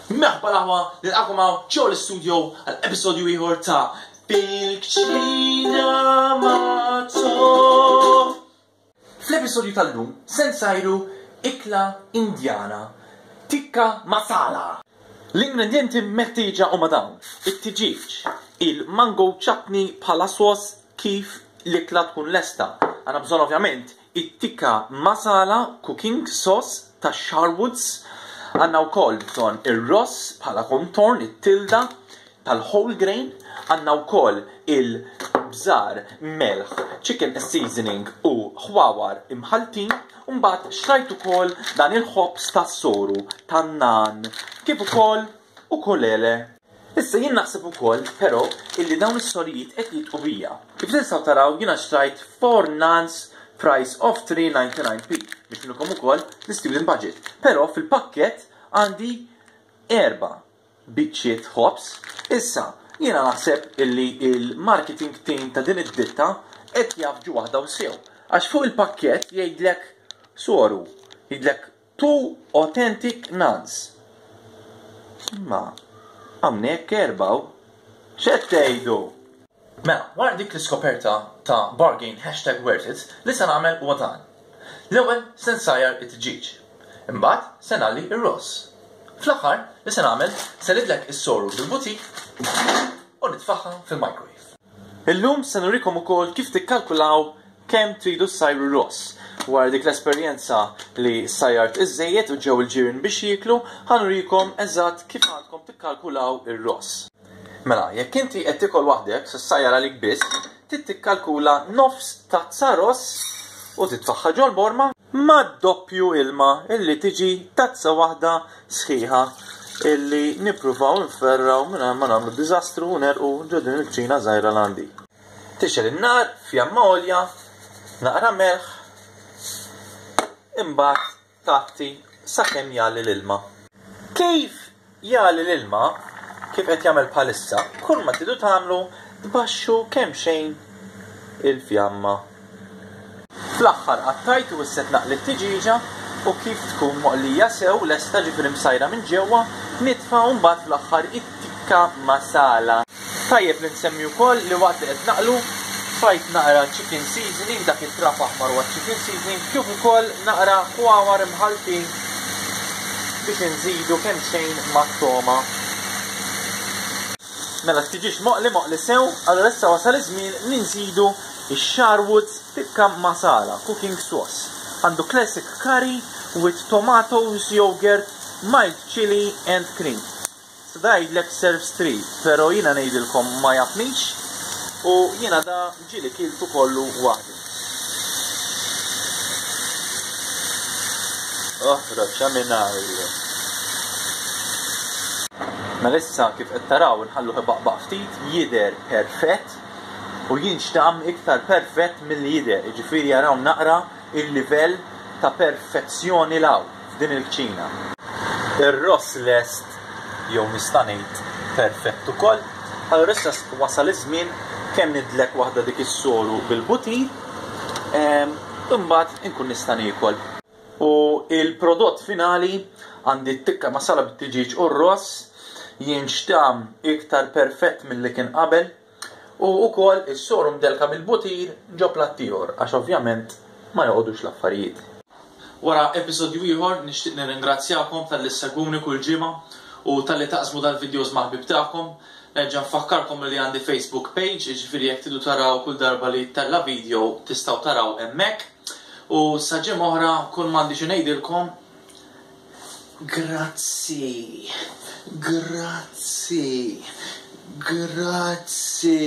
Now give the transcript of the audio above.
Merħba l-aħwa, nilqakom hawn ġew l-istudio għal episodju ieħor ta' Fil-Kċina Mato. Fl-episodju tal-lum se nsajru ikla Indjana, tikka masala. L-ingredjenti meħtieġa huma dawn, it-tiġieġ, il-mango chutney bħala sos kif l-ikla tkun lesta. Għandna bżonn ovvjament it-tikka masala cooking sauce ta' Sharwoods. Għandna wkoll bżonn ir-ross bħala kontorn, it-tilda tal-whole grain. Għandna wkoll il-bżar, melħ, chicken seasoning u ħwawar imħalltin. U mbagħad xtrajt ukoll dan il-ħobż tas-soru tan-naan kif ukoll ukulele. Issa jien naħseb ukoll però illi dawn is-sorijiet qed jidqu bija. Kif tistgħu taraw jiena xtrajt 4 naans price of 3.99p biex nurikom ukoll l-student budget. Però fil-pakkett għandi erba' biċċiet ħobż. Issa jiena naħseb illi il-marketing team ta' din id-ditta qed jafġu waħda u sew. Għax fuq il-pakkett jgħidlek soru, jgħidlek Two authentic naans. Imma hawnhekk erbgħu. X'qed tgħidu? Mela, wara dik l-iskoperta ta' bargain hashtag worth it, li se nagħmel huwa dan. L-ewwel se nsajjar it-tiġieġ. Imbagħad se ngħalli r-ross. Fl-aħħar li se nagħmel se nidlek is-soru bil-butir u nitfagħha fil-microwave. Illum se nurikom ukoll kif tikkalkulaw kemm tridu ssajru ross. Wara dik l-esperjenza li sajjart iż-żejjed u ġew il-ġirien biex jieklu, ħa nurikom eżatt kif għandkom tikkalkulaw ir-ross. Mela, jekk inti qed tiekol waħdek, se ssajjar għalik biss, trid tikkalkula nofs tazza ross u titfagħha ġol-borma mad-doppju ilma illi tiġi tazza waħda sħiħa illi nippruvaw nferraw mingħajr ma nagħmlu diżastru u nerqu ġo din il-kċina żgħira l għandi. Tixgħel in-nar fjamma għolja, naqra melħ, imbagħad tgħatti sakemm jagħli l-ilma. Kif jagħli l-ilma, kif qed jagħmel bħalissa, kull ma tridu tagħmlu tbaxxu kemxejn il-fjamma. Fl-aħħar qattajt u issa qed naqli t-tiġieġa u kif tkun moqlija sew lesta ġifieri msajra minn ġewwa nitfa' u mbagħad fl-aħħar it-tikka masala. Tajjeb li nsemmi wkoll li waqt li qed naqlu tfajt naqra chicken seasoning, dak it-trab aħmar huwa chicken seasoning, kif ukoll naqra ħwawar imħalltin biex inżidu kemxejn mat-togħma. Mela t-tiġieġ moqli moqli sew, allura issa wasal iż-żmien li nżidu x-Sharwood's Tikka Masala cooking sauce. Għandu classic curry with tomatoes, yogurt, mild chili and cream. Sa da jgħidlek serves 3, pero jiena ngħidilkom ma jafnix u jiena da ġieli kiltu kollu waħdi. Oħroġ minn hawn. Mela issa kif qed taraw inħalluh ibaqbaq ftit, jidher perfett u jinxtamm iktar perfett milli jidher, jiġifieri araw naqra il-livell ta' perfezzjoni 'l hawn f'din il-kċina. Ir-ross lest jew nista' ngħid perfett ukoll. Allura issa wasal iż-żmien kemm nidlek waħda dik is-soru bil-butir, imbagħad inkun nista' niekol. U il-prodott finali għandi t-tikka masala bit-tiġieġ u r-ross jinxtam iktar perfett milli kien qabel. U wkoll is-soru mdelka bil-butir ġo platt ieħor għax ovvjament ma joqogħdux l-affarijiet. Wara episodju ieħor nixtieq nirringrazzjakom talli ssegwuni kull ġimgħa u talli taqsmu dal-videos ma' ħbieb tagħkom. Nerġa' nfakkarkom li għandi Facebook page, jiġifieri jekk tridu taraw kull darba li jittella' video tistgħu taraw hemmhekk. U sa ġimgħa oħra kull m'għandi xi ngħidilkom Grazzi, grazzi, grazzi.